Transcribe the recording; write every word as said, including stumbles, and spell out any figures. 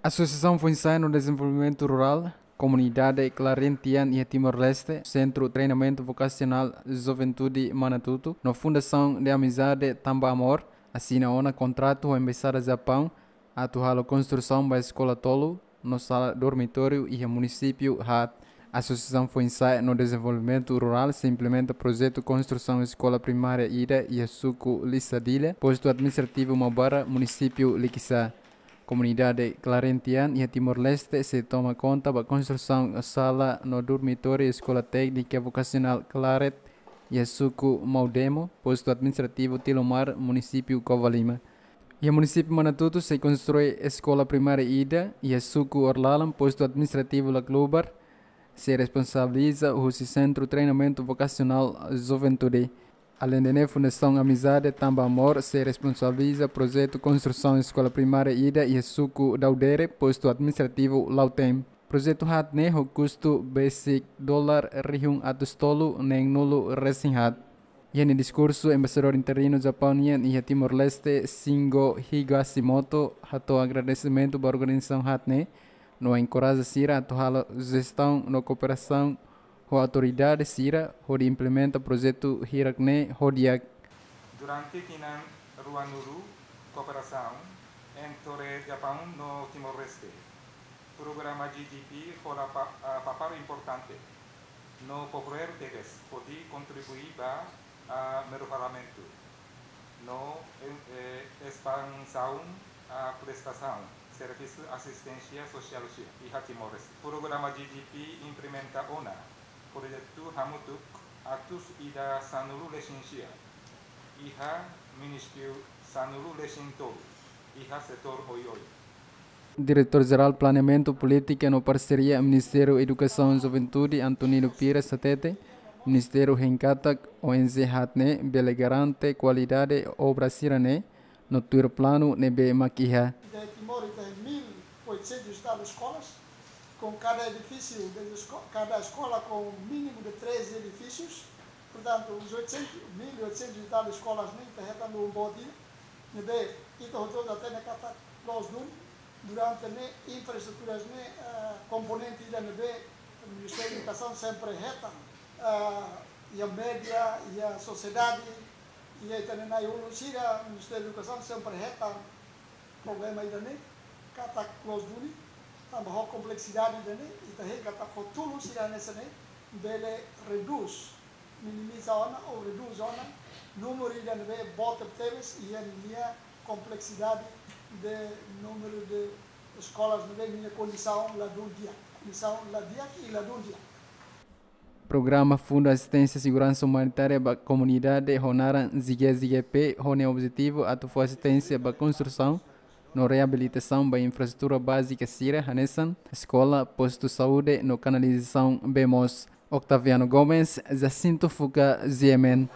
Asosiasaun Foinsa'e no Dezenvolvimentu Rurál, Komunidade Clarentian iha Timor-Leste, Sentru Treinamentu Vokasionál Juventude Manatuto, no Fundasaun de Amizade Tanba Amor, asina ona kontratu ho Embaixada Japaun, atu halo konstrusaun ba eskola tolu, no sala dormitóriu iha munisípiu haat. Asosiasaun Foinsa'e no Dezenvolvimentu Rurál sei implementa projetu konstrusaun eskola primária ida iha suku Lisadilla, postu administrativu Maubara, munisípiu Likisá. Komunidade Clarentian iha Timor-Leste sei toma konta ba konstrusaun sala no dormitóriu Eskola Téknika Vokasionál Claret iha suku Maudemo, postu administrativu Tilomar, munisípiu Covalima. Iha munisípiu Manatuto sei konstrui eskola primária ida iha suku Orlalan, postu administrativu Laclubar, sei responsabiliza husi Sentru Treinamentu Vokasionál Juventude. Aleinde ne'e, Fundasaun Amizade Tanba Amor sei responsabiliza projetu konstrusaun eskola primária ida iha suku Daudere, postu administrativu Lautem. Projetu haat ne'e ho kustu besik dolar rihun atus tolu neen-nulu resin haat. Iha nia diskursu, Embaixadór Interinu Japaun nian iha Timor-Leste, Shingo Higashimoto, hato'o agradesimentu ba organizasaun haat ne'e, no enkoraja sira atu halo jestaun no kooperasaun ho autoridade sira hodi implementa projetu hirak ne'e ho di'ak. Durante tinan ruanulu, kooperasaun entre Japaun no Timor-Leste, programa G G P hola pa, ah, papél importante no popular tebes hodi kontribui ba, ah, melloramentu no, eh, eh, espansaun, ah, prestasaun servisu asisténsia sosiál sira iha Timor-Leste. Programa G G P implementa ona projetu hamutuk atus ida sanulu resin sia iha munisípiu sanulu resin tolu iha setór oioin. Diretór Jerál Planeamentu, Polítika no Parseria, Ministériu Edukasaun, Juventude, Antonino Pires hatete, Ministériu hein katak O N G haat ne'e bele garante kualidade obra sira-ne'e no tuir planu ne'ebé mak iha. De Timor tem mil oitocentos e tal escolas, com cada edifício de esco-, cada escola com mínimo de três edifícios. Portanto, os oitocentos, mil e oitocentos e tal escolas ne'e ita hetan lubuk boot ida, ne'ebé ita hotu-hotu hatene katak loos duni, durante ne'e infraestruturas ne'e, ah, komponente ida ne'ebé Ministériu Edukasaun sempre hetan, ah, iha média, iha sosiedade, iha ita-nia na'i-ulun sira, Ministériu Edukasaun sempre hetan problema ida-ne'e, katak loos duni, tanba ho kompleksidade ida-ne'e, ita hein katak ho tulun sira hanesan ne'e, bele redús, minimiza ona ou redús ona númeru ida ne'ebé boot tebes iha nia kompleksidade de númeru de eskolas ne'ebé nia kondisaun ladún di'ak, kondisaun la di'ak i ladún di'ak. Programa Fundu Asisténsia Seguransa Umanitária ba Komunidade ho naran Zige Zige P, ho nia objetivu atu fó asisténsia ba konstrusaun no reabilitasaun ba infraestrutura bázika sira hanesan eskola, postu saúde no kanalizasaun bee moos. Octaviano Gomes, Jacinto Fuca, G M N.